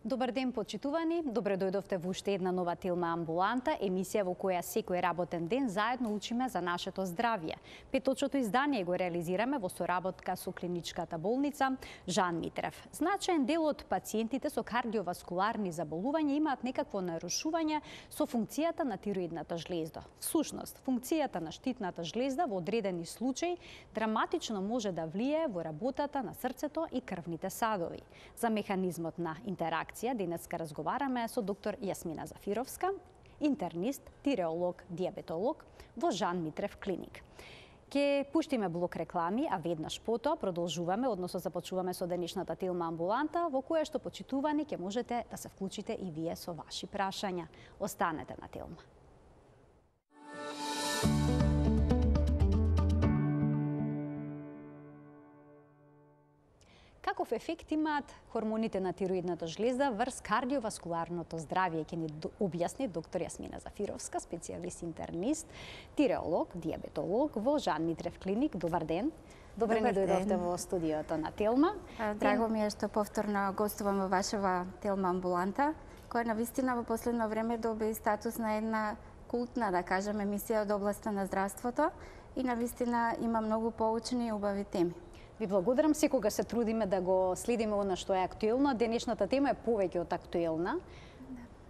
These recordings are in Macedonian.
Добар ден, почитувани. Добре дојдовте во уште една нова Телма амбуланта, емисија во која секој работен ден заедно учиме за нашето здравје. Петочното издание го реализираме во соработка со клиничката болница Жан Митрев. Значаен дел од пациентите со кардиоваскуларни заболувања имаат некакво нарушување со функцијата на тироидната жлезда. Всушност, функцијата на штитната жлезда во одредени случаи драматично може да влие во работата на срцето и крвните садови. За механизмот на интеракција денеска разговараме со доктор Јасмина Зафировска, интернист, тиреолог, диабетолог во Жан Митрев клиник. Ке пуштиме блок реклами, а веднаш потоа продолжуваме, односно започуваме со денешната Телма амбуланта, во која што почитувани ке можете да се вклучите и вие со ваши прашања. Останете на Телма. Каков ефект имаат хормоните на тироидната жлезда врз кардиоваскуларното здравје, ќе ни објасни доктор Јасмина Зафировска, специјалист интернист, тиреолог, диабетолог во Жан Митрев клиник. Добар ден. Добре ни дојдовте во студиото на Телма. Драго ми е што повторно гостувам во вашава Телма амбуланта, која навистина во последно време доби статус на една култна, да кажем, емисија од областа на здравството и навистина има многу поучни и убави теми. Ви благодарам, секога се трудиме да го следиме она што е актуелно. Денешната тема е повеќе од актуелна.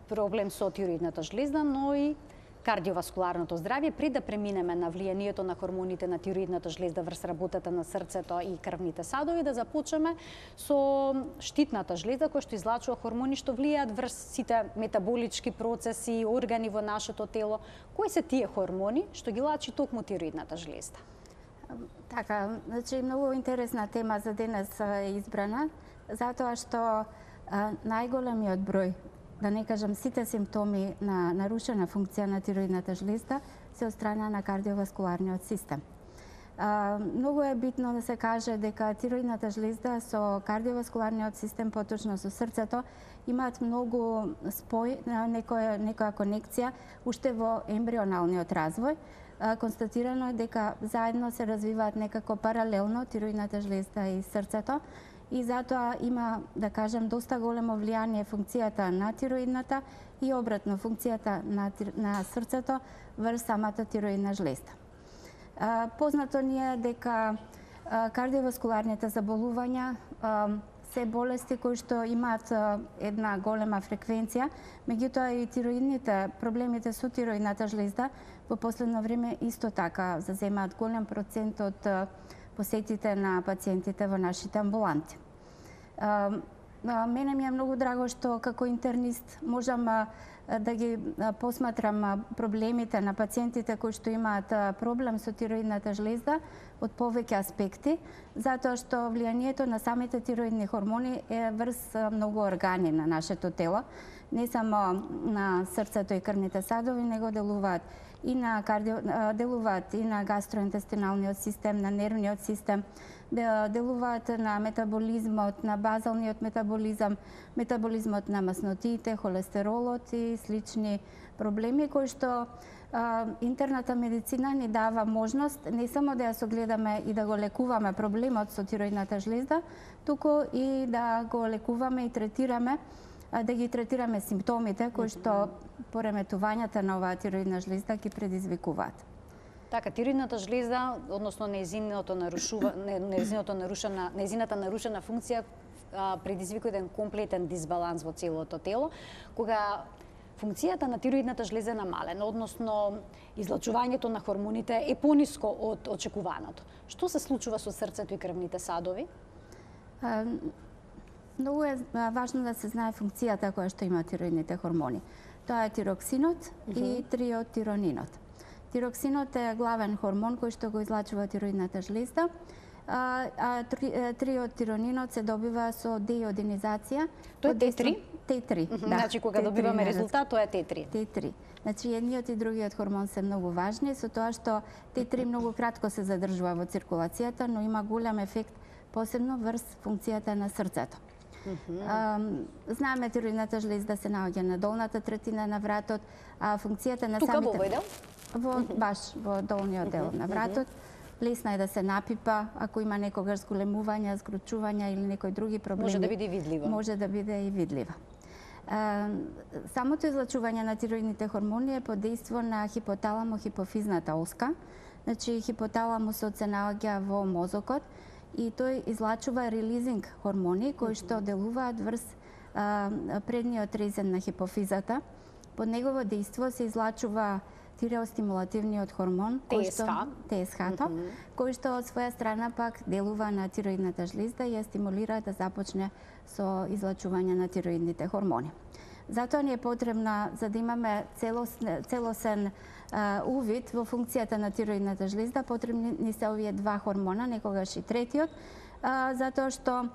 Проблем со тироидната жлезда, но и кардиоваскуларното здравје. Пред да преминеме на влијанието на хормоните на тироидната жлезда врз работата на срцето и крвните садови, да започнеме со штитната жлезда, која што излачува хормони што влијаат врз сите метаболички процеси, органи во нашето тело. Кои се тие хормони што ги лачи токму тироидната жлезда? Така, значи многу интересна тема за денес е избрана, затоа што најголемиот број, да не кажам сите симптоми на нарушена функција на тироидната жлезда се од страна на кардиоваскуларниот систем. Многу е битно да се каже дека тироидната жлезда со кардиоваскуларниот систем, поточно со срцето, имаат многу спој, некоја конекција уште во ембрионалниот развој. Констатирано е дека заедно се развиваат некако паралелно тироидната жлезда и срцето и затоа има, да кажем, доста големо влијание функцијата на тироидната и обратно функцијата на срцето врз самата тироидна жлезда. Познато ни е дека кардиоваскуларните заболувања се болести кои што имаат една голема фреквенција, меѓутоа и тироидните проблемите со тироидната жлезда во последно време исто така заземаат голем процент од посетите на пациентите во нашите амбуланти. Мене ми е многу драго што како интернист можам да ги посматрам проблемите на пациентите кои што имаат проблем со тироидната жлезда од повеќе аспекти, затоа што влијанието на самите тироидни хормони е врз многу органи на нашето тело, не само на срцето и крвните садови, него делуваат и на гастроинтестиналниот систем, на нервниот систем, делуваат на метаболизмот, на базалниот метаболизам, метаболизмот на маснотиите, холестеролот и слични проблеми кои што интерната медицина ни дава можност не само да ја согледаме и да го лекуваме проблемот со тироидната жлезда, туку и да го лекуваме и третираме, да ги третираме симптомите кои што пореметувањата на оваа тироидна жлезда ги предизвикуваат. Така, тироидната жлезда, односно нејзината нарушена функција предизвикува еден комплетен дисбаланс во целото тело, кога функцијата на тироидната жлезда е намалена, односно излачувањето на хормоните е пониско од очекуваното. Што се случува со срцето и крвните садови? Многу е важно да се знае функцијата која што има тироидните хормони. Тоа е тироксинот и триодтиронинот. Тироксинот е главен хормон кој што го излачува тироидната жлезда, а триодтиронинот се добива со деиодинизација. Тоа е Т3? Т3, да. Значи, кога добиваме резултат, тоа е Т3. Т3. Значи, едниот и другиот хормон се многу важни, со тоа што Т3 многу кратко се задржува во циркулацијата, но има голем ефект, посебно врз функцијата на срцето. Знаеме тироидната жлезда се наоѓа на долната третина на вратот, а функцијата на Тука самите... во овој дел? Баш во долниот дел на вратот. Лесно е да се напипа, ако има некогаш зголемувања, згручувања или некои други проблеми. Може да биде видлива. Може да биде и видлива. Самото излачување на тироидните хормони е под дејство на хипоталамо-хипофизната оска. Значи, хипоталамусот се наоѓа во мозокот и тој излачува релизинг хормони кои што делуваат врз предниот резен на хипофизата. Под негово дејство се излачува тиреостимулативниот хормон, ТСХ-то, кој што од своја страна пак делува на тироидната жлезда и ја стимулира да започне со излачување на тироидните хормони. Затоа ни е потребна, за да имаме целосен увид во функцијата на тироидната жлезда, потребни ни се овие два хормона, некогаш и третиот, затоа што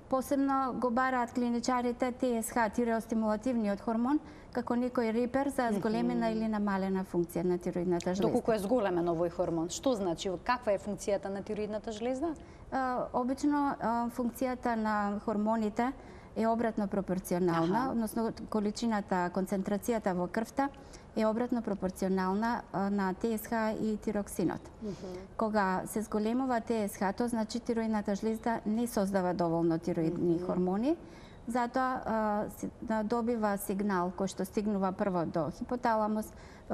посебно го бараат клиничарите ТСХ, тиреостимулативниот хормон, како некој репер за зголемена или намалена функција на тироидната жлезда. Доколку е зголемен овој хормон, што значи, каква е функцијата на тироидната жлезда? Обично функцијата на хормоните е обратно пропорционална, односно количината, концентрацијата во крвта е обратно пропорционална на ТСХ и тироксинот. Кога се зголемува ТСХ, то значи тироидната жлезда не создава доволно тироидни хормони, затоа добива сигнал кој што стигнува прво до хипоталамус,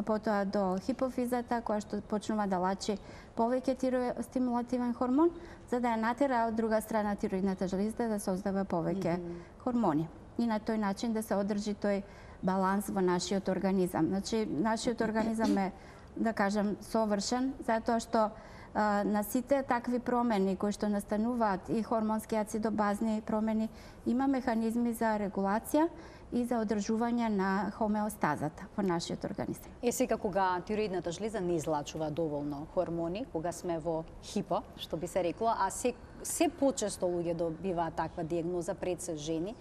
потоа до хипофизата, која што почнува да лачи повеќе тиреостимулативен хормон, за да ја натера од друга страна тироидната жлезда да создава повеќе хормони. И на тој начин да се одржи тој баланс во нашиот организам. Значи, нашиот организам е, да кажем, совршен, затоа што на сите такви промени кои што настануваат и хормонски ацидобазни промени, има механизми за регулација и за одржување на хомеостазата во нашиот организам. Сега кога тироидната жлеза не излачува доволно хормони, кога сме во хипо, што би се рекло, а се почесто луѓе добиваат таква дијагноза, пред се жени,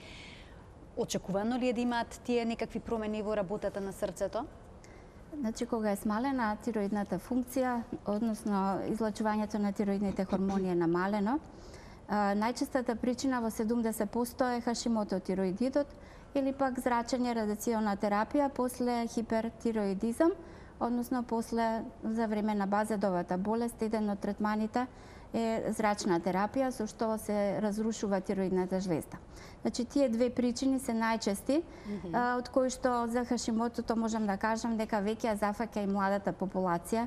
очекувано ли е да имаат тие некакви промени во работата на срцето? Значи, кога е смалена тироидната функција, односно излачувањето на тироидните хормони е намалено, најчестата причина во 70% е хашимото-тироидитот или пак зрачење радиациона терапија после хипертироидизам, односно после за време на базедовата болест, еден од третманите е зрачна терапија со што се разрушува тироидната жлезда. Значи, тие две причини се најчести, од кои што за хашимотото можам да кажам дека веќе ја зафаќа и младата популација.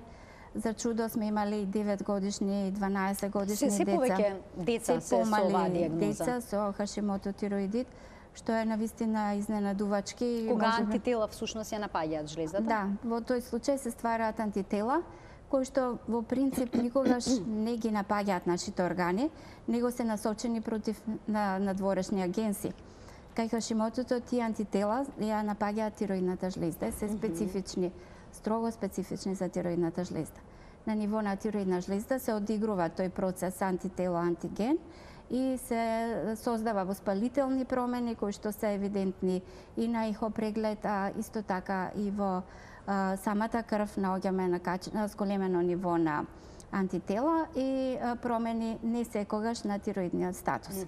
За чудо сме имали 9 годишни и 12 годишни деца. Се повеќе деца се со оваа дијагноза. Деца со хашимото-тироидит, што е навистина изненадувачки. Кога антитела всушност ја напаѓаат жлездата? Да, во тој случај се ствараат антитела, кои што во принцип никогаш не ги напаѓаат нашите органи, него се насочени против надворешни агенси. Кај хашимотото тие антитела ја напаѓаат тироидната жлезда, се специфични, строго специфични за тироидната жлезда. На ниво на тироидна жлезда се одигрува тој процес антитело-антиген и се создава воспалителни промени кои што се евидентни и на ихо преглед, а исто така и во самата крв наоѓаме на зголемено ниво на антитела и промени не секогаш на тироидниот статус.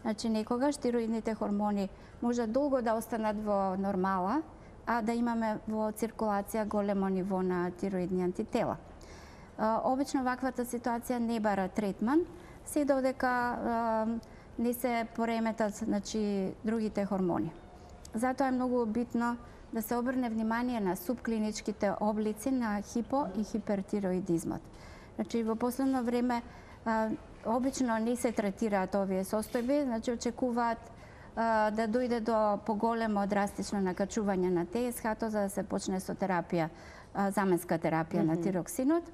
Значи, некогаш тироидните хормони може долго да останат во нормала, а да имаме во циркулација големо ниво на тироидни антитела. Обично ваквата ситуација не бара третман, се додека не се пореметат, значи, другите хормони. Затоа е многу битно да се обрне внимание на субклиничките облици на хипо и хипертироидизмот. Значи, во последно време обично не се третираат овие состојби, значи очекуваат да дојде до поголемо драстично накачување на ТСХ-то за да се почне со терапија, заменска терапија на тироксинот.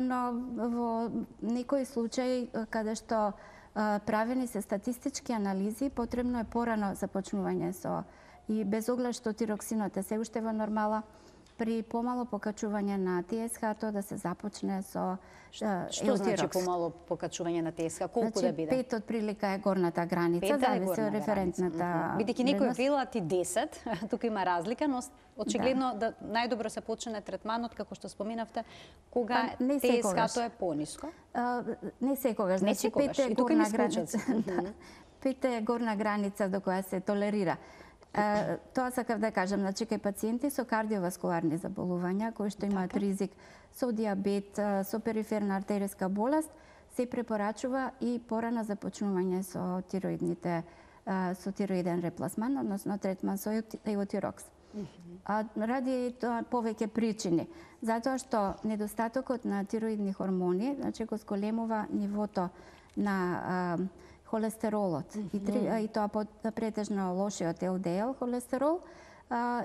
Но во некои случаи каде што правени се статистички анализи, потребно е порано започнување со и без оглед што тироксинот е се уште во нормала, при помало покачување на ТСХ-то да се започне со Што значи помало покачување на ТСХ? Колку да биде? 5 отприлика е горната граница, зависи од референтната. Бидејќи некои велат и 10, тука има разлика, но очигледно да најдобро се почне третманот, како што споменавте, кога ТСХ-то е пониско. Не секогаш, значи 5 е горна граница. 5 е горна граница до која се толерира. Тоа сакав да кажам, значи кај пациенти со кардиоваскуларни заболувања кои што имаат ризик со диабет, со периферна артериска болест, се препорачува и порано започнување со тироиден репласман, односно третман со еутирокс. Ради тоа повеќе причини. Затоа што недостатокот на тироидни хормони, значи го зголемува нивото на холестеролот и тоа претежно лошиот ЛДЛ холестерол,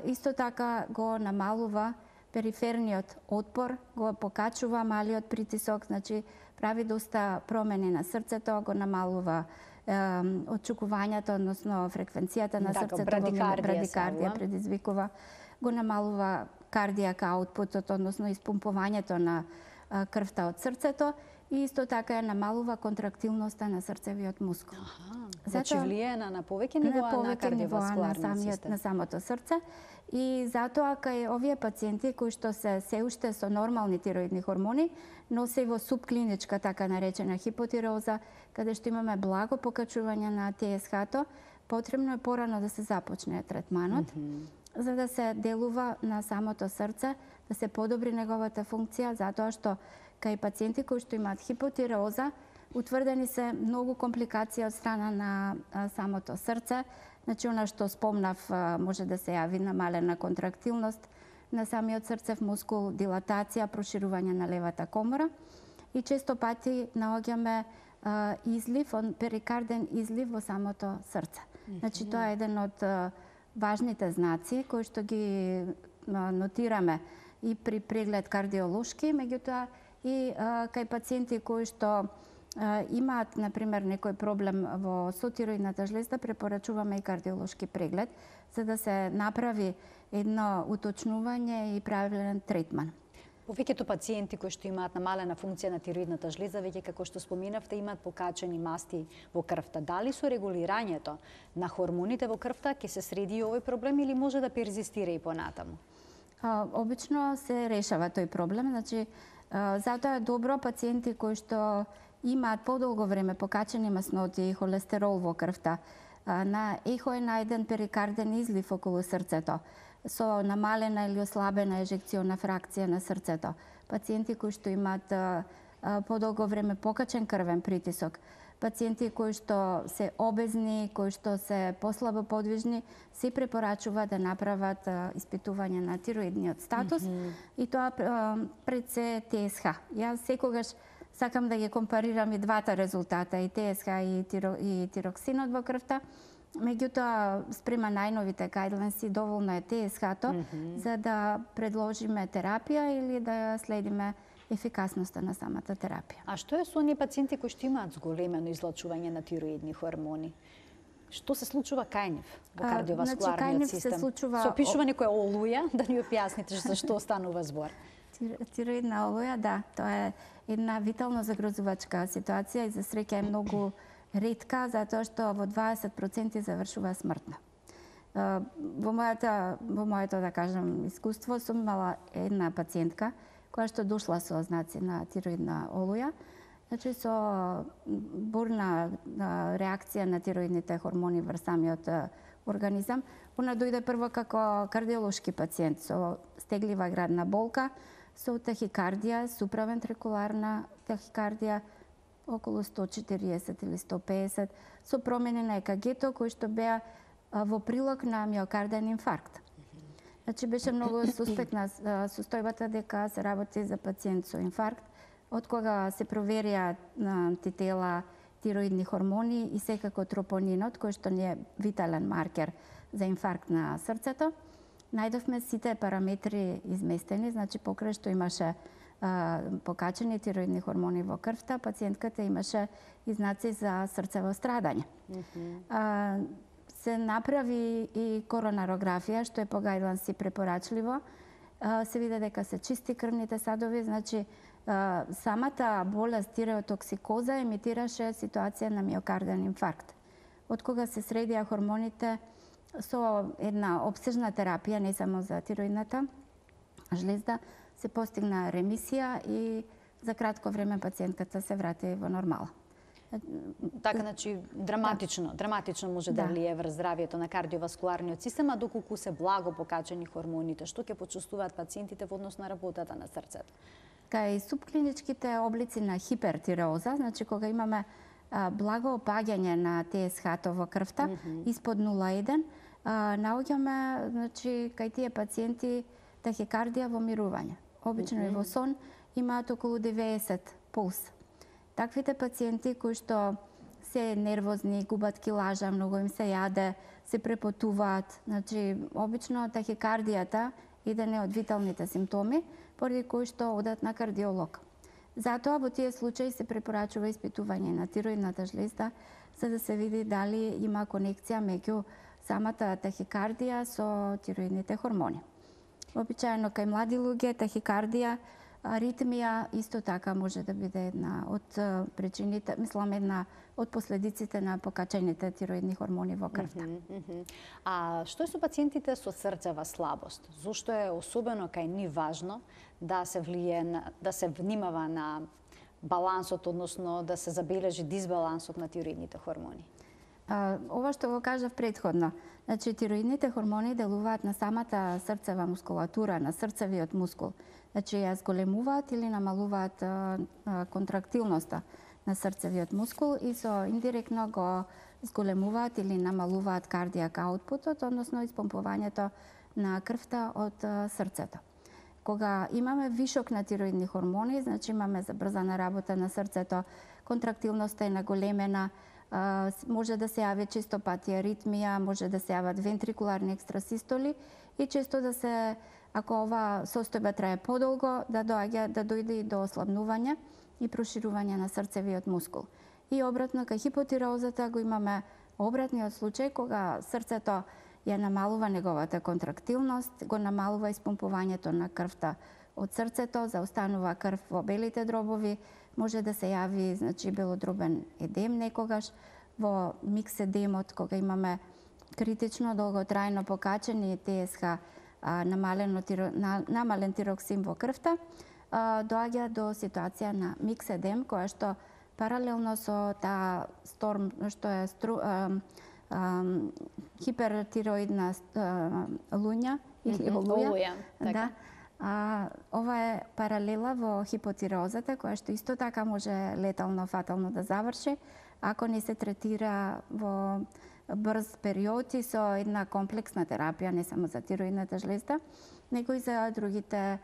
исто така го намалува периферниот отпор, го покачува малиот притисок, значи прави доста промени на срцето, го намалува отчукувањето, односно фреквенцијата на срцето, брадикардија предизвикува, го намалува кардијак аутпутот, односно испумпувањето на крвта од срцето и исто така намалува контрактилноста на срцевиот мускул. Значи влијае на повеќе нивоа на кардиоваскуларниот систем. На самото срце. И затоа кај овие пациенти кои што се уште со нормални тироидни хормони, но се во субклиничка така наречена хипотироза, каде што имаме благо покачување на ТСХ-то, потребно е порано да се започне третманот, за да се делува на самото срце, да се подобри неговата функција, затоа што кај пациенти кои што имаат хипотироза, утврдени се многу компликации од страна на самото срце. Значи, она што спомнав, може да се јави намалена контрактилност на самиот срцев мускул, дилатација, проширување на левата комора и често пати наоѓаме излив, перикарден излив во самото срце. Значи, тоа е еден од важните знаци кои што ги нотираме и при преглед кардиолошки, меѓутоа и кај пациенти кои што имаат, например, некој проблем во тироидната жлезда, препорачуваме и кардиолошки преглед, за да се направи едно уточнување и правилен третман. Повеќето пациенти кои што имаат намалена функција на тироидната жлеза, веќе како што споминавте, имаат покачени масти во крвта. Дали со регулирањето на хормоните во крвта ќе се среди овој проблем или може да перзистира и понатаму? Обично се решава тој проблем, значи затоа е добро пациенти кои што имаат подолго време покачени масноти и холестерол во крвта, на ехо е најден перикарден излив околу срцето, со намалена или ослабена ежекциона фракција на срцето. Пациенти кои што имаат подолго време покачен крвен притисок, пациенти кои што се обезни, кои што се послабо подвижни, се препорачува да направат испитување на тироидниот статус и тоа пред се ТСХ. Јас секогаш сакам да ги компарирам и двата резултата, и ТСХ и тироксинот во крвта. Меѓутоа, спрема најновите гајдленси, доволно е ТСХ-то за да предложиме терапија или да следиме ефикасноста на самата терапија. А што е со оние пациенти кои што имаат зголемено излачување на тироидни хормони? Што се случува кај нив во кардиоваскуларниот систем? Со пишува некоја олуја, да ни објасните за што станува збор. Тироидна олуја, да, тоа е една витално загрозувачка ситуација и за среќа е многу ретка, затоа што во 20% завршува смртно. Во моето, да кажам, искуство сум имала една пациентка која што дошла со знаци на тироидна олуја, значи со бурна реакција на тироидните хормони врз самиот организам. Она дојде прво како кардиолошки пациент со стеглива градна болка, со тахикардија, суправентрикуларна тахикардија, околу 140 или 150, со промени на ЕКГ-то кои што беа во прилог на миокарден инфаркт. Значи беше многу суспектна состојбата дека се работи за пациент со инфаркт, од кога се проверија антитела, тироидни хормони и секако тропонинот, кој што не е витален маркер за инфаркт на срцето. Најдовме сите параметри изместени, значи покрај што имаше покачени тироидни хормони во крвта, пациентката имаше и знаци за срцево страдање. Се направи и коронарографија, што е по гајдленси препорачливо. Се виде дека се чисти крвните садови, значи самата болест тиреотоксикоза емитираше ситуација на миокарден инфаркт. Од кога се средија хормоните со една обсежна терапија, не само за тироидната жлезда, се постигна ремисија и за кратко време пациентката се врати во нормала. Така, значи, драматично може да влие врз здравието на кардиоваскуларниот систем, а доколку се благо покачени хормоните, што ќе почувствуваат пациентите во однос на работата на срцето? Кај субклиничките облици на хипертиреоза, значи кога имаме благо опаѓање на ТСХ во крвта, испод 0,1, наоѓаме, значи, кај тие пациенти тахикардија во мирување. Обично и во сон имаат околу 90 пулс. Таквите пациенти кои што се нервозни, губат килажа, многу им се јаде, се препотуваат, значи обично тахикардијата еден од виталните симптоми, поради кои што одат на кардиолог. Затоа во тие случаи се препорачува испитување на тироидната жлезда, за да се види дали има конекција меѓу самата тахикардија со тироидните хормони. Обичаено кај млади луѓе тахикардија, аритмија исто така може да биде една од причините, мислам една од последиците на покачените тироидни хормони во крвта. А што е со пациентите со срцева слабост? Зошто е особено кај нив важно да се да се внимава на балансот, односно да се забележи дисбалансот на тироидните хормони? Ова што го кажав претходно, значи тироидните хормони делуваат на самата срцева мускулатура, на срцевиот мускул. Значи ја зголемуваат или намалуваат контрактилноста на срцевиот мускул и со индиректно го зголемуваат или намалуваат кардијак аутпутот, односно испомпувањето на крвта од срцето. Кога имаме вишок на тироидни хормони, значи имаме забрзана работа на срцето, контрактилноста е наголемена, може да се јави често пати аритмија, може да се јават вентрикуларни екстрасистоли и често да се, ако ова состојба трае подолго, да дојде и до ослабнување и проширување на срцевиот мускул. И обратно, кај хипотиреозата го имаме обратниот случај, кога срцето ја намалува неговата контрактилност, го намалува испомпувањето на крвта од срцето, заостанува крв во белите дробови, може да се јави, значи, белодробен едем некогаш, во микседемот, кога имаме критично долготрајно покачени ТСХ, намален тироксин во крвта, доаѓа до ситуација на микседем, која што паралелно со таа сторм, што е хипертироидна луња или олуја. Да. Ова е паралела во хипотиреозата, која што исто така може летално, фатално да заврши, ако не се третира во брз период и со една комплексна терапија, не само за тироидната жлезда, него и за другите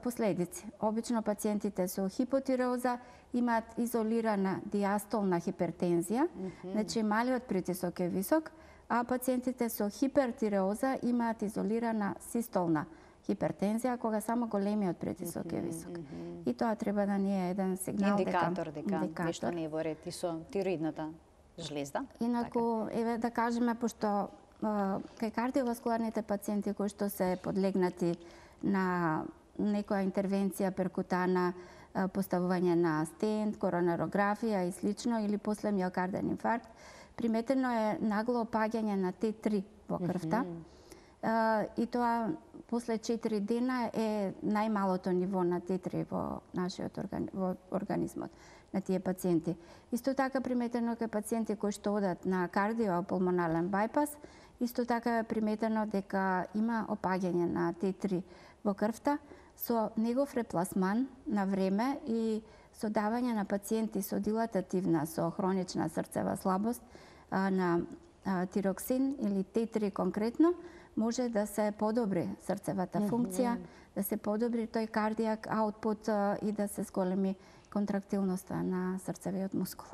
последици. Обично пациентите со хипотиреоза имаат изолирана диастолна хипертензија, значи малиот притисок е висок, а пациентите со хипертиреоза имаат изолирана систолна хипертензија, кога само големиот притисок е висок. И тоа треба да ни е еден сигнал индикатор дека нешто не е во ред и со тироидната жлезда. Инаку, еве да кажеме, пошто кај кардиоваскуларните пациенти кои што се подлегнати на некоја интервенција перкутана, поставување на стент, коронарографија и слично, или после миокарден инфаркт, приметено е нагло опаѓање на Т3 во крвта. И тоа после 4 дена е најмалото ниво на Т3 во нашиот организмот на тие пациенти. Исто така приметено кај пациенти кои што одат на кардиопулмонален бајпас, исто така е приметено дека има опаѓање на Т3 во крвта со негов репласман на време и со давање на пациенти со дилатативна, со хронична срцева слабост на тироксин или Т3 конкретно, може да се подобри срцевата функција, да се подобри тој кардијак аутпут и да се зголеми контрактилноста на срцевиот мускул.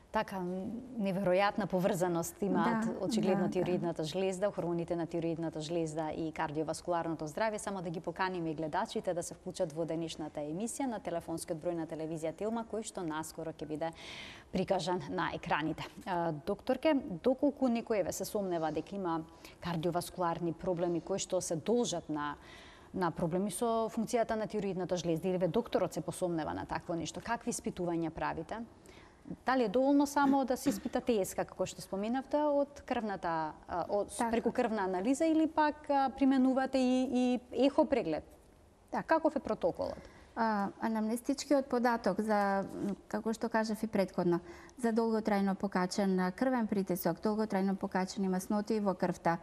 Така, неверојатна поврзаност имаат очигледно тироидната жлезда, хормоните на тироидната жлезда и кардиоваскуларното здравје. Само да ги поканиме гледачите да се вклучат во денешната емисија на телефонскиот број на телевизија Тилма, кој што наскоро ќе биде прикажан на екраните. Докторке, доколку некој се сомнева дека има кардиоваскуларни проблеми кои што се должат на проблеми со функцијата на тироидната жлезда, или докторот се посомнева на такво нешто, какви испитувања правите? Дали е доволно само да се испита ТСХ, како што споменавте, од крвната, преку крвна анализа, или пак применувате и ехо преглед? Каков е протоколот? Анамнестичкиот податок за, како што кажав и претходно, за долготрајно покачен крвен притисок, долготрајно покачени масноти во крвта,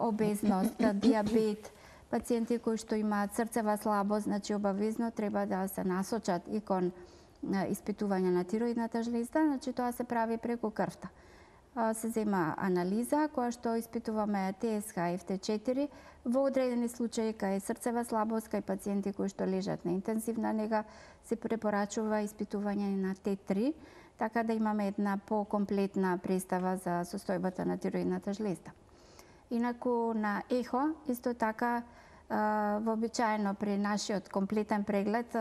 обезност, диабет, пациенти кои што имаат срцева слабост, значи обавезно треба да се насочат и кон испитување на тироидната жлезда, значи тоа се прави преку крвта. Се зема анализа која што испитуваме ТСХ и FT4 во одредени случаи кај срцева слабост, кај пациенти кои што лежат на интензивна нега се препорачува испитување на Т3, така да имаме една покомплетна представа за состојбата на тироидната жлезда. Инаку на ехо исто така вообичаено при нашиот комплетен преглед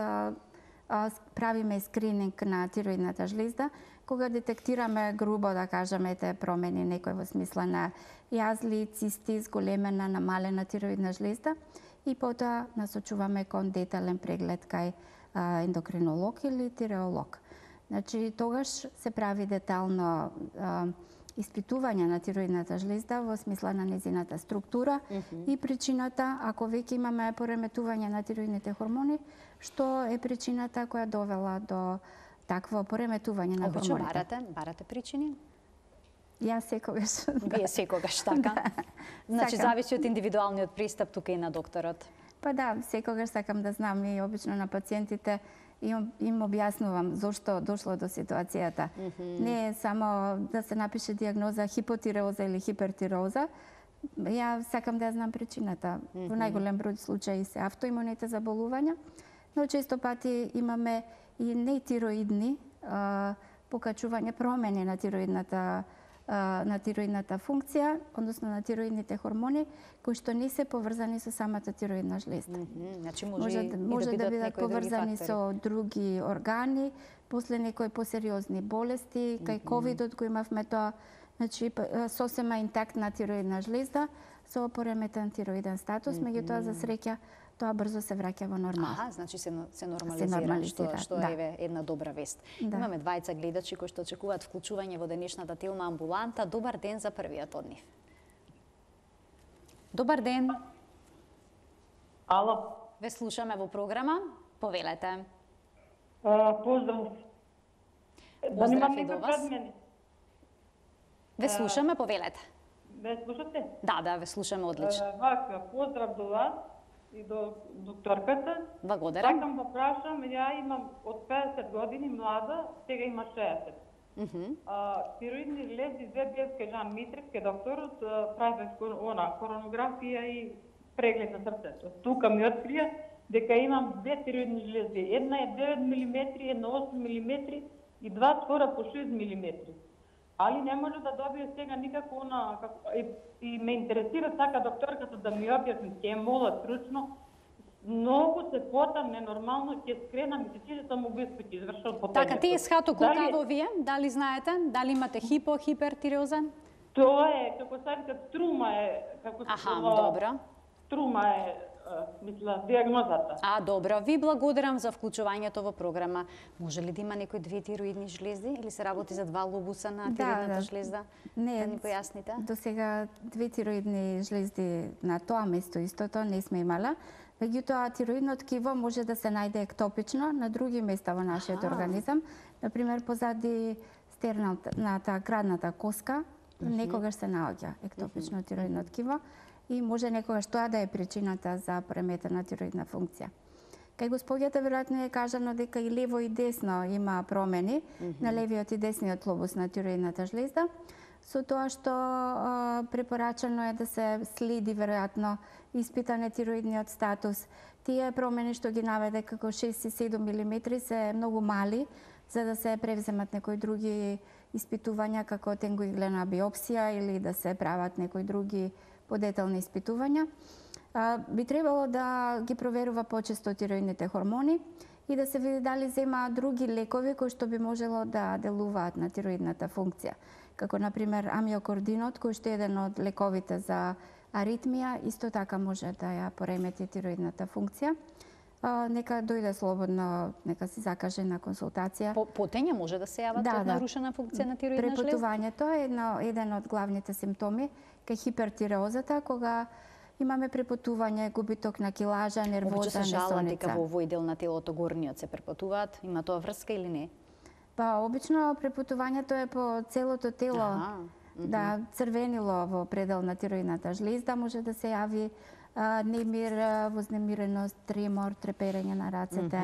правиме скрининг на тироидната жлезда, кога детектираме грубо, да кажеме, те промени некој во смисла на јазли, цисти, зголемена, намалена тироидна жлезда и потоа насочуваме кон детален преглед кај ендокринолог или тиреолог. Значи, тогаш се прави детално испитување на тироидната жлезда во смисла на незината структура и причината, ако веќе имаме пореметување на тироидните хормони, што е причината која довела до такво пореметување на хормоните. Обично барате причини? Јас секогаш. Вие секогаш, така? Значи, зависи од индивидуалниот пристап тука и на докторот. Па да, секогаш сакам да знам и обично на пациентите им објаснувам зошто дошло до ситуацијата. Не е само да се напише диагноза хипотиреоза или хипертиреоза. Ја сакам да ја знам причината. Во најголем број случаи се автоимуните заболувања, но често пати имаме и нетироидни покачување, промени на тироидната функција, односно на тироидните хормони, кои што не се поврзани со самата тироидна жлезда. Значи може да бидат поврзани со други органи, после некои посериозни болести, кај ковидот го имавме тоа, значи сосема интактна тироидна жлезда со пореметен тироиден статус, меѓутоа за среќа тоа брзо се враќа во нормал. Значи се нормализира, што е една добра вест. Имаме двајца гледачи кои што очекуваат вклучување во денешната Тилма амбуланта. Добар ден за првиот од нив. Добар ден. Ало. Ве слушаме во програма. Повелете. Поздрав. Поздрав и до вас. Ве слушаме, повелете. Ве слушате? Да, ве слушаме одлично. Вака, поздрав до вас и до докторката. Благодарам. Сакам да прашам, ја имам од 50 години млада, сега има 60. Тироидни жлезди, ЗБС кај Жан Митрев, кај докторот, правев коронографија и преглед на срцето. Тука ми открија дека имам две тироидни жлезди. Една е 9 мм, една 8 мм и два скора по 6 мм. Али не може да добие сега никако и ме интересира сака докторката да ми објасни, ќе мола стручно, многу се потам ненормално, ќе скренам и ќе сам му го извршал по Така, ТСХ-то колкаво вие? Дали знаете? Дали имате хипертиреоза? Тоа е, како се вика, струма е, добро. Струма е, мисла, диагнозата. Добро. Ви благодарам за вклучувањето во програма. Може ли да има некои две тироидни жлезди или се работи за два лобуса на тироидната жлезда? Не, да ни појасните. До сега две тироидни жлезди на тоа место истото не сме имала. Меѓутоа, тироидно ткиво може да се најде ектопично на други места во нашиот организам. Например, позади стерналната градната коска, некогаш се наоѓа ектопично тироидно ткиво и може некогаш тоа да е причината за пореметена тироидна функција. Кај господјата веројатно е кажано дека и лево и десно има промени на левиот и десниот лобус на тироидната жлезда, со тоа што препорачано е да се следи веројатно испитане тироидниот статус. Тие промени што ги наведе како 6 и 7 мм се многу мали, за да се превземат некои други испитувања како тенгоиглена биопсија или да се прават некои други подетални испитувања. Би требало да ги проверува почесто тироидните хормони и да се види дали зема други лекови кои што би можело да делуваат на тироидната функција, како например амиокординот, кој што е еден од лековите за аритмија, исто така може да ја поремети тироидната функција. Нека дојде слободно, нека се закаже на консултација. Потење може да се јават од нарушена функција на тироидна жлезда? Препотувањето е еден од главните симптоми кај хипертиреозата, кога имаме препотување, губиток на килажа, нервоза, се жалат дека несоница. во овој дел на телото горниот се препотуваат, има тоа врска или не? Па обично препотувањето е по целото тело. Да, црвенило во предел на тироидната жлезда може да се јави немир, вознемиреност, тремор, треперење на рацете,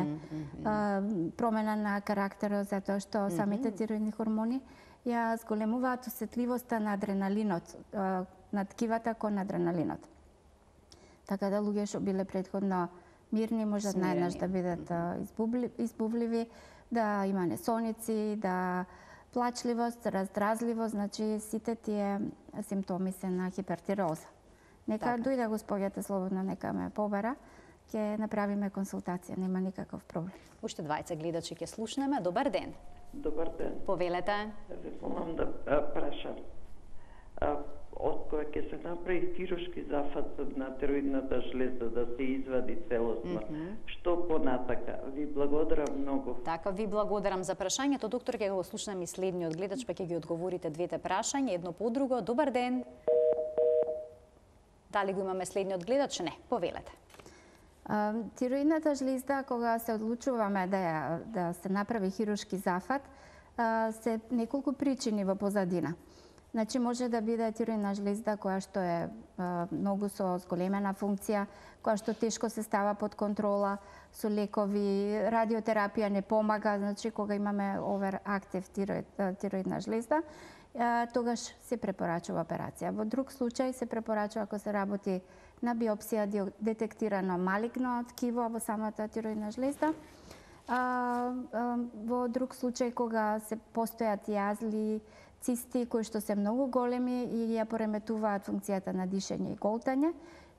промена на карактерот затоа што самите тироидни хормони ја зголемуваат осетливоста на адреналинот, на ткивата кон адреналинот. Така да луѓе што биле претходно мирни можат најнаш да бидат избувливи, да има несоници, да плачливост, раздразливост, значи сите тие симптоми се на хипертироза. Нека дојде господјата слободно, нека ме побара, ќе направиме консултација, нема никаков проблем. Уште двајца гледачи ќе слушнеме. Добар ден. Добар ден. Повелете. Ви помам да прашам. Од кога ќе се направи хируршки зафат на тироидната жлезда да се извади целосно, што понатака? Ви благодарам многу. Така, ви благодарам за прашањето. Доктор, ќе го слушнеме и следниот гледач, па ќе ги одговорите двете прашања, едно по друго. Добар ден. Дали го имаме следниот гледач? Не, повелете. Тироидната жлезда, кога се одлучуваме да се направи хируршки зафат, се неколку причини во позадина. Значи, може да биде тироидна жлезда која што е многу со зголемена функција, која што тешко се става под контрола со лекови, радиотерапија не помага, значи кога имаме оверактив тироидна жлезда, тогаш се препорачува операција. Во друг случај се препорачува ако се работи на биопсија детектирано малигно ткиво во самата тироидна жлезда. Во друг случај кога се постојат јазли, цисти кои што се многу големи и ја пореметуваат функцијата на дишење и голтање.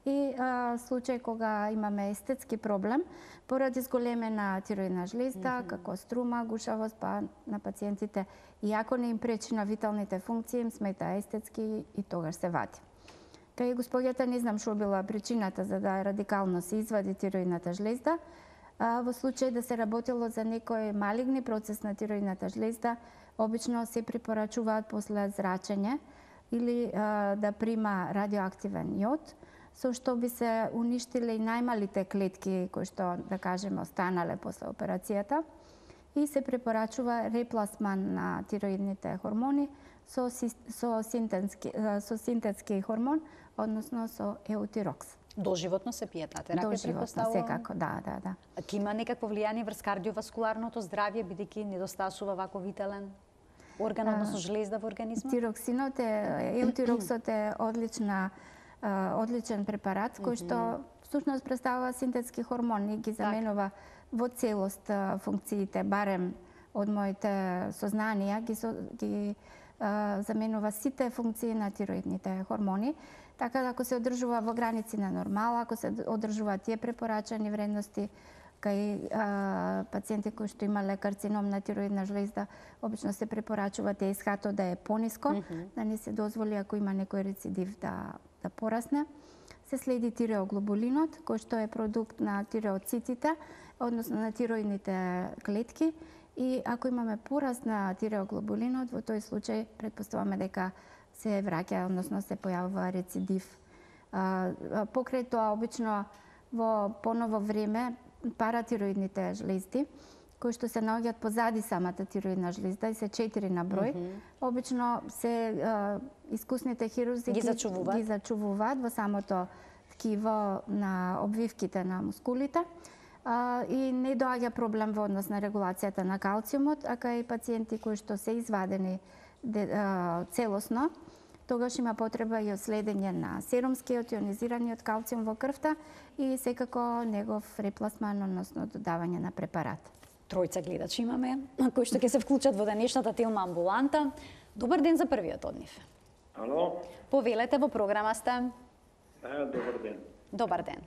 И случај кога имаме естетски проблем поради зголемена тироидна жлезда, како струма, гушавост, па на пациентите, иако не им пречи на виталните функции, им смета естетски и тогаш се вади. Кај господјата не знам што била причината за да радикално се извади тироидната жлезда. Во случај да се работело за некој малигни процес на тироидната жлезда, обично се препорачуваат после зрачење или да прима радиоактивен јод, со што би се уништиле и најмалите клетки кои што, да кажеме, останале после операцијата, и се препорачува репласман на тироидните хормони со синтетски хормон, односно со еутирокс. Доживотно се пие таа терапија, Доживотно, секако, да. Ки има некакво влијание врз кардиоваскуларното здравје, бидејќи недостасува вако витален орган, односно жлезда во организмот? Тироксинот еутироксот е одличен препарат кој што всушност представува синтетски хормон и ги заменува во целост функциите, барем од моите сознанија, ги заменува сите функции на тироидните хормони. Така да ако се одржува во граници на нормала, ако се одржуваат тие препорачани вредности кај пациенти кои што имале карцином на тироидна жлезда, обично се препорачува ТСХ-то да е пониско, да не се дозволи ако има некој рецидив да порасне. Се следи тиреоглобулинот, кој што е продукт на тиреоцитите, односно на тироидните клетки. И ако имаме пораст на тиреоглобулинот, во тој случај предпоставаме дека се враќа, односно се појавува рецидив. Покрај тоа, обично во поново време, паратироидните жлезди, кои што се наоѓаат позади самата тироидна жлезда и се 4 на број, обично се искусните хирурзи ги зачувуваат во самото ткиво на обвивките на мускулите и не доаѓа проблем во однос на регулацијата на калциумот, а кај пациенти кои што се извадени целосно, тогаш има потреба и од следење на серумскиот ионизираниот калциум во крвта и секако негов репласман, односно додавање на препарат. Тројца гледачи имаме, кои што ќе се вклучат во денешната Телма амбуланта. Добар ден за првиот од нив. Ало? Повелете, во програма сте. Добар ден. Добар ден.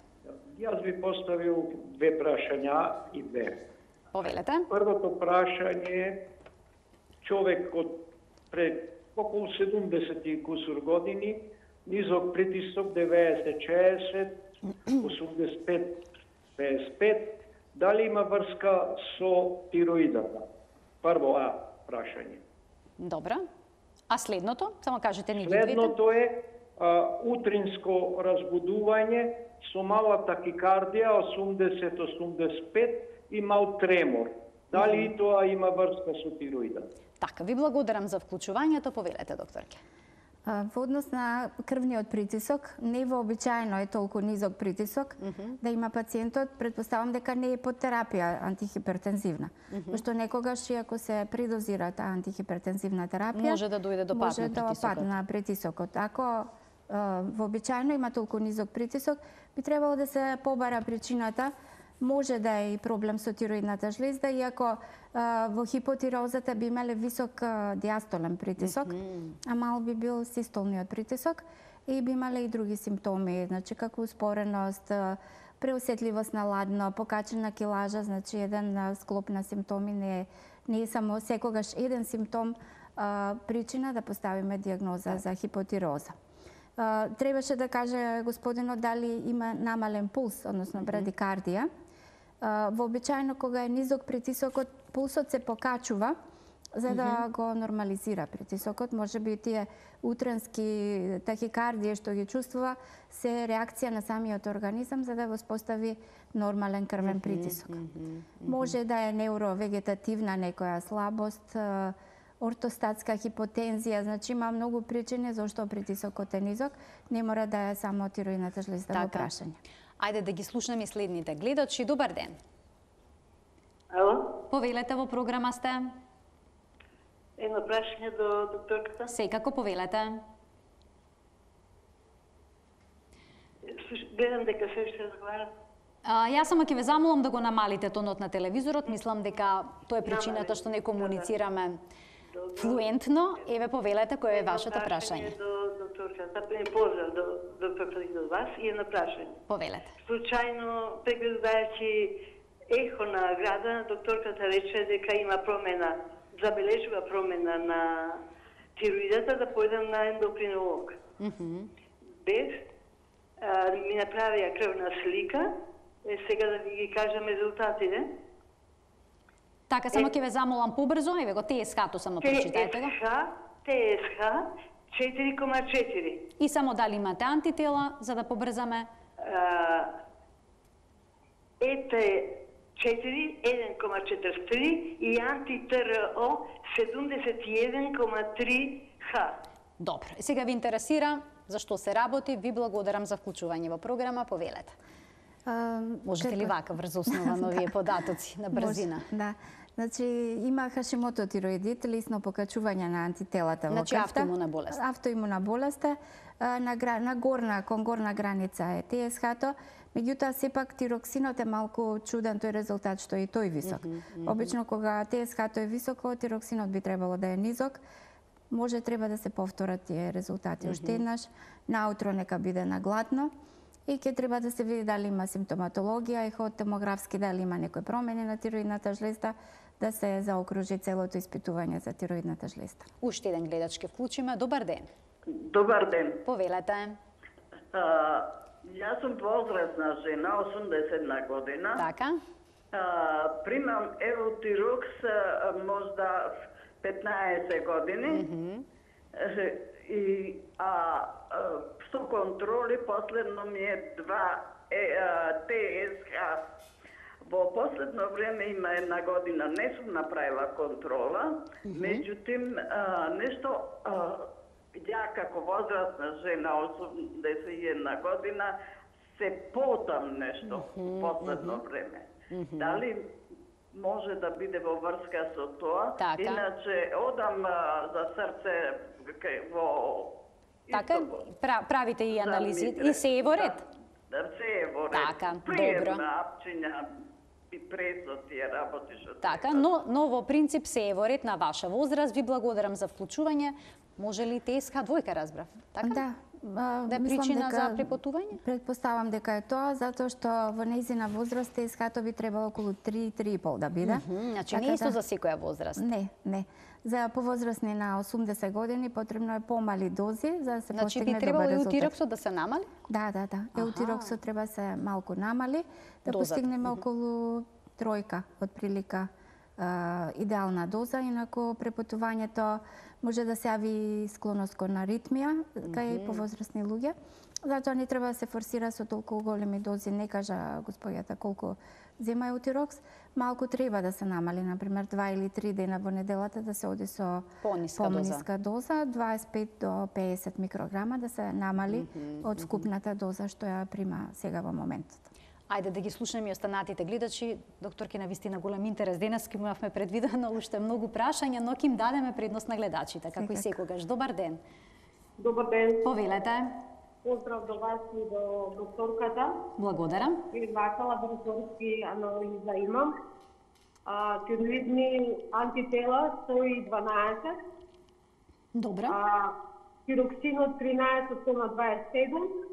Јас ви поставил две прашања и две. Повелете. Првото прашање, човек од пред околу 70 и кусур години, низок притисок 90-60, 85-55, дали има врска со тироидата? Прво прашање. Добро. А следното? Само кажете ни ги двете. Следното е, утринско разбудување со мала такикардија 80-85 и мал тремор. Дали и тоа има врска со тироидот? Така, ви благодарам за вклучувањето, повелете докторке. Во однос на крвниот притисок, не вообичаено е толку низок притисок да има пациентот, предпоставам дека не е под терапија антихипертензивна. Пошто некогаш, ако се придозира таа антихипертензивна терапија, може да дојде до пад на притисокот. Ако вообичаено има толку низок притисок, би требало да се побара причината. Може да е и проблем со тироидната жлезда, иако во хипотирозата би имале висок диастолен притисок, а мал би бил систолниот притисок и би имале и други симптоми, значи како успореност, преосетливост на ладно, покачена килажа, значи еден склоп на симптоми, не е само секогаш еден симптом причина да поставиме диагноза за хипотироза. Требаше да каже господинот дали има намален пулс, односно брадикардија. Вообичаено кога е низок притисокот, пулсот се покачува за да го нормализира притисокот. Може би тие утренски тахикардија што ги чувствува се реакција на самиот организам за да воспостави нормален крвен притисок. Може да е невровегетативна некоја слабост, ортостатска хипотензија, значи има многу причини зашто притисокот е низок, не мора да е само тироидната жлезда во прашање. Ајде да ги слушнеме следните гледачи. Добар ден. Ало? Повелете, во програма сте. Едно прашање до докторката. Секако повелете. Гледам дека се уште разговарат. Јас само ќе ве замолам да го намалите тонот на телевизорот. Мислам дека тоа е причината што не комуницираме флуентно. Еве повелете кој е вашето прашање. Докторката, поздрав до докторката и до вас и едно прашање. Повелете. Случајно, прегледајќи ехо на града, докторката рече дека има промена, забележува промена на тироидата, да појдам на ендокринолог. Без ми направија крвна слика, сега да ви ги кажам резултатите. Така, само ќе ве замолам побрзо, еве го ТСХ-то само прочитајте го. ТСХ 4,4. И само дали имате антитела, за да побрзаме? ЕТ4 1,43 и анти-ТРО 71,3Х. Добро. Сега ви интересира зашто се работи. Ви благодарам за вклучување во програма. Повелете. Можете ли вака врз основа на овие податоци на брзина? Да. Значи, има Хашимото тироидит, лесно покачување на антителата во крвта. Значи, автоимуна болест. Автоимуна болест кон горна граница е ТСХ-то. Меѓутоа, сепак тироксинот е малку чуден тој резултат што и тој висок. Обично, кога ТСХ-то е високо, тироксинот би требало да е низок. Може треба да се повторат тие резултати уште еднаш. Наутро нека биде наглатно. И ќе треба да се види дали има симптоматологија, ехотомографски дали има некои промени на тироидната жлезда, да се заокружи целото испитување за тироидната жлезда. Уште еден гледач ќе вклучиме. Добар ден. Добар ден. Повелете. Јас сум возрастна жена, 81 година. Така. Примам Евотирокс можда 15 години. И со контроли последно ми е 2 ТСХ. Во последно време има една година не сум направила контрола, меѓутоа нешто ја како возрастна жена 81 година се потам нешто последно време. Дали може да биде во врска со тоа? Така. Иначе одам за срце во Така, правите и анализи и се е во ред? Да, се е во ред. Така, добро. Приемна апчиња и пресо тие работи што Така, но во принцип се е во ред на ваша возраст. Ви благодарам за вклучување. Може ли ТСХ двојка, разбрав? Така? Да. Да е причина за препотување? Предпоставам дека е тоа, затоа што во нејзина возраст ТСХ-то би требало околу 3-3,5 да биде. Значи не е исто за секоја возраст? Не. За повозрастни на 80 години потребно е помали дози за да се Значи постигне би требало добар резултат. еутироксот да се намали? Да. Еутироксот треба се малку намали, да Дозата. постигнеме околу 3 отприлика идеална доза, инаку препотувањето може да се јави склоност кон аритмија кај повозрасни луѓе. Затоа не треба да се форсира со толку големи дози, не кажа господјата колку зема еутирокс, малку треба да се намали, например 2 или 3 дена во неделата да се оди со пониска доза, 25 до 50 микрограма да се намали од вкупната доза што ја прима сега во моментот. Ајде да ги слушнеме и останатите гледачи. Докторки, навистина голем интерес. Денес имавме предвидено уште многу прашања, но ќе им дадеме предност на гледачите, како и секогаш. Добар ден. Добар ден. Повелете. Поздрав до вас и до докторката. Благодарам. И вака лабораторски анализа имам. Тироидни антитела 112. Добро. Тироксинот 13,27.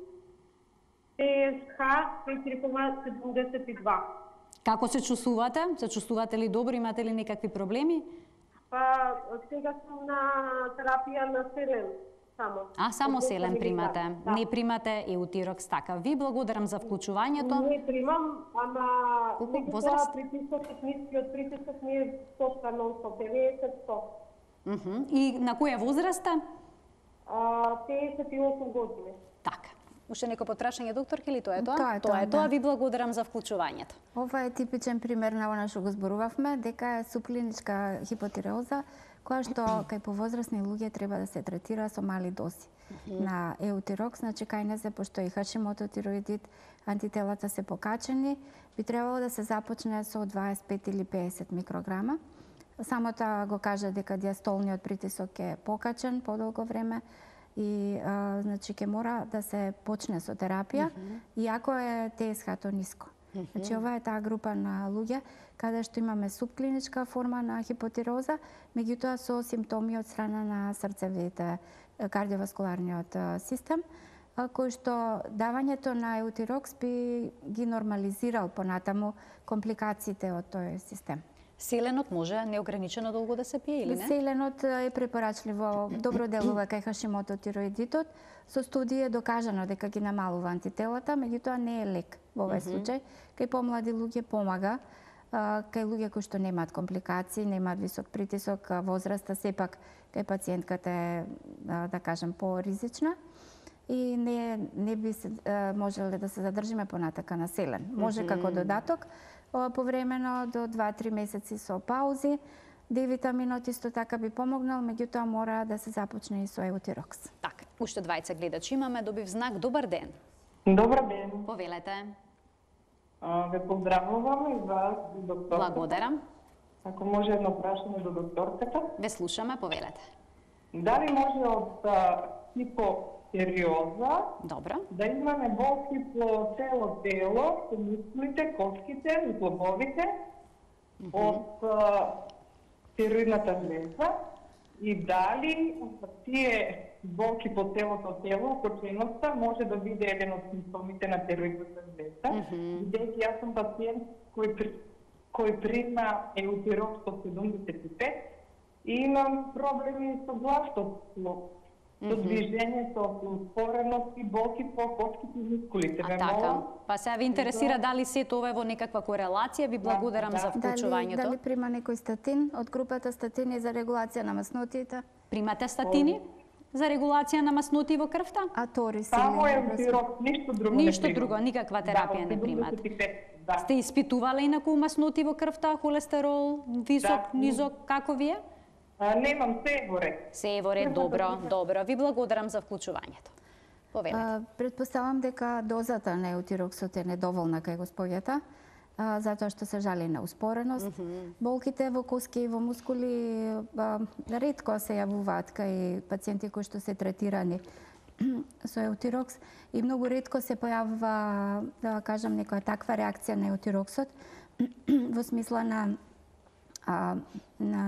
ТСХ 4,72. Како се чувствувате? Се чувствувате ли добро? Имате ли некакви проблеми? Па сега сум на терапија на селен. Само селен примате. Да. Не примате еутирокс, така. Ви благодарам за вклучувањето. Не примам, ама колку возраст? Притисокот нискиот притисок ми е 100 нон-стоп, 90-100. И на која возраст? 58 години. Така. Уште некој подпрашање, докторки, или тоа е тоа? Тоа е тоа. Ви благодарам за вклучувањето. Ова е типичен пример на она што го зборувавме, дека е субклиничка хипотиреоза, која што кај повозрасни луѓе треба да се третира со мали дози на еутирокс, значи кај не се, пошто и хашимото тироидит, антителата се покачени, би требало да се започне со 25 или 50 микрограма. Само тоа го кажа дека диастолниот притисок е покачен подолго време, и значи ќе мора да се почне со терапија, иако е ТСХ-то ниско. Значи ова е таа група на луѓе каде што имаме субклиничка форма на хипотироза, меѓутоа со симптоми од страна на срцевите, кардиоваскуларниот систем, кој што давањето на еутирокс би ги нормализирал понатаму компликациите од тој систем. Селенот може неограничено долго да се пие или не? Селенот е препорачливо, добро делува кај хашимото тироидитот. Со студии е докажано дека ги намалува антителата, меѓутоа не е лек во овој случај. Кај помлади луѓе помага, кај луѓе кои што немаат компликации, немаат висок притисок, возраста сепак кај пациентката е, да кажем, поризична и не би се можеле да се задржиме понатака на селен. Може како додаток, повремено до 2-3 месеци со паузи. D-витаминот исто така би помогнал, меѓутоа мора да се започне и со еутирокс. Така, уште двајца гледачи имаме, добив знак. Добар ден. Добар ден. Повелете. Ве поздравувам и вас, докторката. Благодарам. Ако може едно прашање до докторката. Ве слушаме, повелете. Дали може од хипотиреоза да имаме болки по цело тело, по мускулите, коските, зглобовите, од тироидната жлеза и дали тие болки по целото тело, окрученоста, може да биде еден од симптомите на тироидната жлеза. Бидејќи јас сум пациент кој прима еутирокс од 75 и имам проблеми со гласот, со движењето, со успореност и болки по коските и мускулите. Така, па се ви интересира дали се тоа е во некаква корелација, ви благодарам за вклучувањето. Дали прима некој статин од групата статини за регулација на маснотиите? Примате статини за регулација на маснотии во крвта? Аторис. Само еутирокс, ништо друго не примам. Ништо друго, никаква терапија не примате. Сте испитувале инаку маснотии во крвта, холестерол, висок, низок, како ви е? Немам, се во ред. Се во ред, добро. Ви благодарам за вклучувањето. Повелете. Предпоставам дека дозата на еутироксот е недоволна кај госпоѓата, затоа што се жали на успореност. Болките во коски и во мускули ретко се јавуваат кај пациенти кои што се третирани со еутирокс и многу ретко се појавува, да кажам, некоја таква реакција на еутироксот во смисла на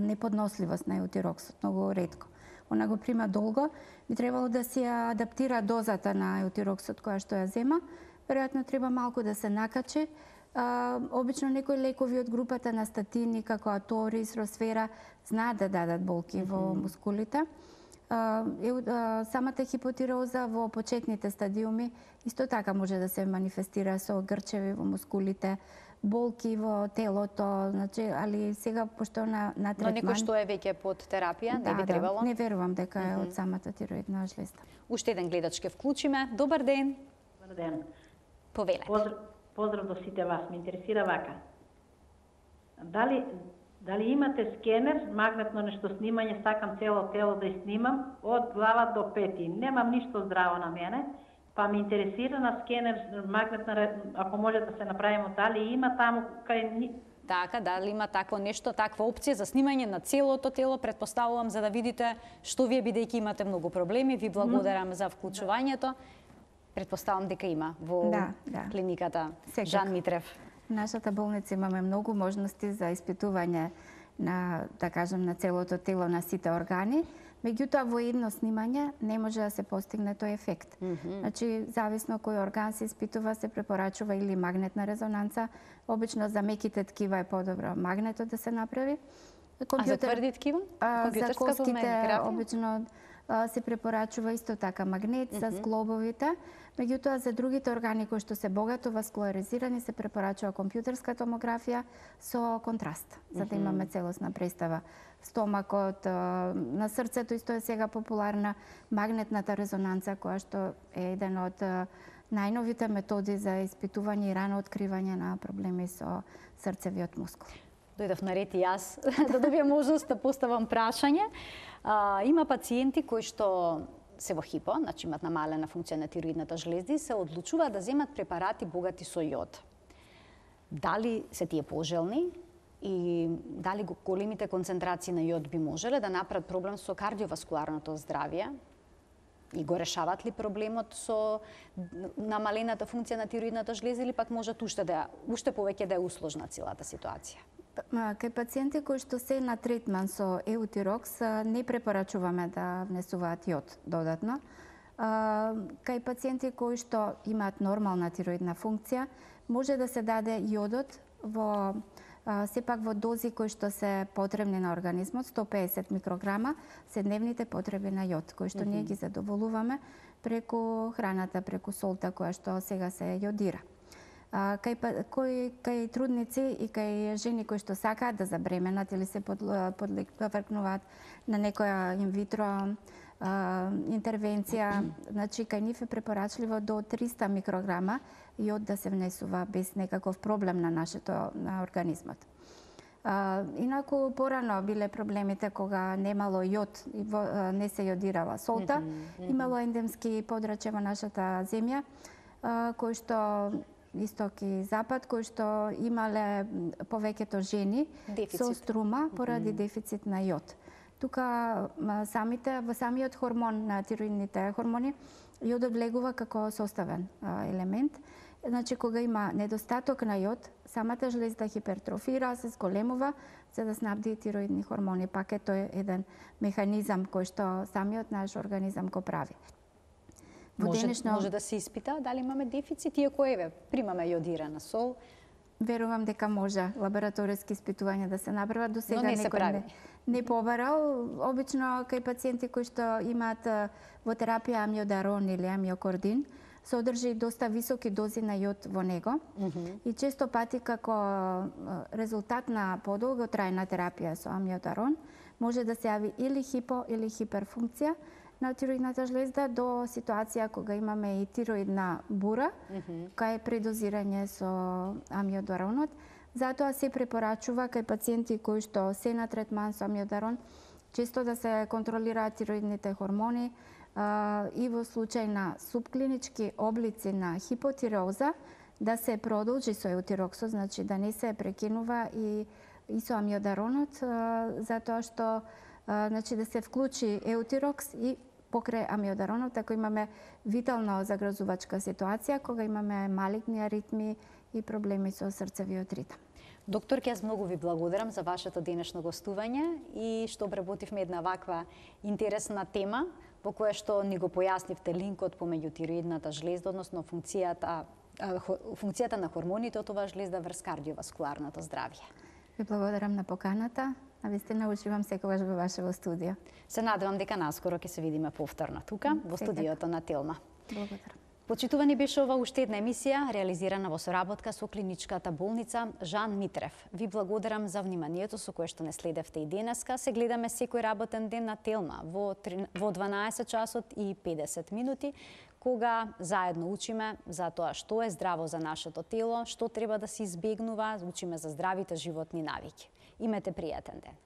неподносливост на еутироксот, многу ретко. Она го прима долго, би требало да се адаптира дозата на еутироксот која што ја зема. Веројатно треба малку да се накачи. Обично некои лекови од групата на статини, како Аторис, Росфера, знаат да дадат болки во мускулите. Самата хипотироза во почетните стадиуми исто така може да се манифестира со грчеви во мускулите, болки во телото, значи, али сега пошто на третман... Но некој што е веќе под терапија, не би требало? Не верувам дека е од самата тироидна жлезда. Уште еден гледач ке вклучиме. Добар ден. Добар ден. Повелете. Поздрав до сите вас. Ме интересира вака. Дали имате скенер, магнетно нешто снимање, сакам цело тело да снимам, од глава до пети. Немам ништо здраво на мене, па ме интересира на скенер, магнетна, ако може да се направимо, дали има таму кај... Така, дали има такво нешто, таква опција за снимање на целото тело, предпоставувам, за да видите што вие, бидејќи имате многу проблеми. Ви благодарам за вклучувањето. Предпоставам дека има во клиниката Жан Митрев. В нашата болница имаме многу можности за испитување на, да кажем, на целото тело, на сите органи. Меѓутоа, во едно снимање не може да се постигне тој ефект. Значи, зависно кој орган се испитува, се препорачува или магнетна резонанца. Обично за меките ткива е подобро магнетот да се направи. А за тврди ткива? За костите обично се препорачува исто така магнет за зглобовите. Меѓутоа, за другите органи кои што се богато васкуларизирани се препорачува компјутерска томографија со контраст, за да имаме целосна представа. Стомакот, на срцето исто е сега популарна магнетната резонанца, која што е еден од најновите методи за испитување и рано откривање на проблеми со срцевиот мускул. Дојдов на ред и јас да добијам можност да поставам прашање. Има пациенти кои што се во хипо, значи имат намалена функција на тироидната жлезда и се одлучуваат да земат препарати богати со јод. Дали се тие пожелни и дали големите концентрации на јод би можеле да направат проблем со кардиоваскуларното здравје? И го решават ли проблемот со намалената функција на тироидната жлезда или пак можат уште повеќе да е усложна целата ситуација? Кај пациенти кои што се на третман со еутирокс не препорачуваме да внесуваат јод додатно. Кај пациенти кои што имаат нормална тироидна функција, може да се даде јодот во сепак во дози кои што се потребни на организмот, 150 микрограма се дневните потреби на јод, кои што ние ги задоволуваме преку храната, преку солта која што сега се јодира. Кај трудници и кај жени кои што сакаат да забременат или се подвркнуваат на некоја инвитро интервенција, значи кај нив е препорачливо до 300 микрограма јод да се внесува без некаков проблем на на организмот. Инаку порано биле проблемите кога немало јод и не се јодирала солта, имало ендемски подрачја во нашата земја кои што исток и запад, кои што имале повеќето жени со струма поради дефицит на јод. Тука во самиот хормон на тироидните хормони, јодот влегува како составен елемент. Значи, кога има недостаток на јод, самата жлезда хипертрофира, се зголемува, за да снабди тироидни хормони. Пак е тој еден механизам кој што самиот наш организам го прави. Може да се испита дали имаме дефицит, иако примаме јодирана сол. Верувам дека може лабораториски испитувања да се направат, до сега некој не побарал. Обично кај пациенти кои што имаат во терапија амиодарон или амиокордин, содржи доста високи дози на јод во него и често пати како резултат на подолготрајна терапија со амиодарон може да се јави или хипо или хиперфункција на тироидната жлезда до ситуација кога имаме и тироидна бура, кај предозирање со амиодаронот. Затоа се препорачува кај пациенти кои што се на третман со амиодарон, често да се контролираат тироидните хормони и во случај на субклинички облици на хипотиреоза да се продолжи со еутироксот, значи да не се прекинува и со амиодаронот, затоа што значи да се вклучи еутирокс и покрај амиодаронот, ако имаме витално загрозувачка ситуација, кога имаме малигни аритми и проблеми со срцевиот ритм. Доктор, јас многу ви благодарам за вашето денешно гостување и што обработивме една ваква интересна тема во која што ни го појаснивте линкот помеѓу тироидната жлезда, односно функцијата на хормоните од оваа жлезда врз кардиоваскуларното здравје. Ви благодарам на поканата. Навистина уживам секогаш во вашето студио. Се надевам дека наскоро ќе се видиме повторно тука, во студиото на Телма. Благодарам. Почитувани беше ова уште една емисија, реализирана во соработка со клиничката болница Жан Митрев. Ви благодарам за вниманието со кое што не следевте и денеска. Се гледаме секој работен ден на Телма во 12 часот и 50 минути, кога заедно учиме за тоа што е здраво за нашето тело, што треба да се избегнува, учиме за здравите животни навики. Имете пријатен ден.